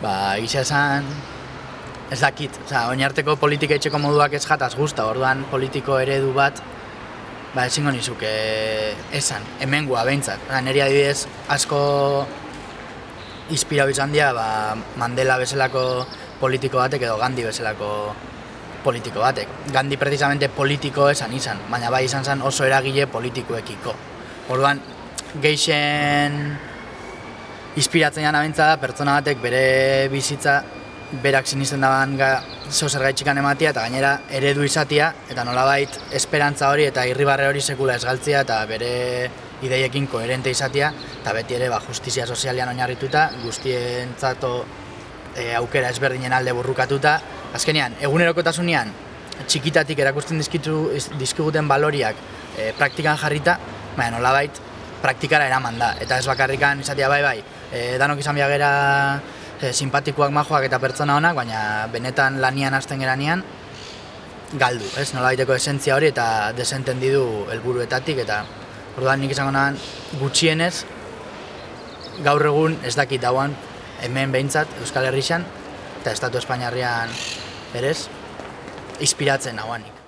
Egia esan, ez dakit, oinarteko politika etxeko moduak ez jataz guzta, orduan politiko eredu bat, ezingo nizuke esan, hemengoa behintzat. Neri adibidez asko inspirau izan dira Mandela bezalako politiko batek edo Gandhi bezalako politiko batek. Gandhi precisamente politiko esan izan, baina bai izan zen oso eragile politikoekiko. Orduan, gehien inspiratzen jana bentsa da pertsona batek bere bizitza berak sinisten daban zer gaitxikan ematia eta gainera eredu izatia eta nolabait esperantza hori eta irribarre hori sekula ez galtzea eta bere ideiekin koherente izatia eta beti ere justizia sozialean oinarrituta, guztientzato aukera ezberdinen alde burrukatuta. Azkenean, egunerokotasunean txikitatik erakusten dizkiguten baloriak praktikan jarrita, baina nolabait praktikara eraman da. Eta ez bakarrikan izatea bai, danok izan biagera simpatikoak, majoak eta pertsona honak, baina benetan lanian hasten geranean galdu, nolabaiteko esentzia hori eta desentendidu helburuetatik eta orduan nik izango nahan gutxienez gaur egun ez dakit dauan hemen behintzat Euskal Herrixan eta Estatu Espainiarrean berez inspiratzen nagoanik.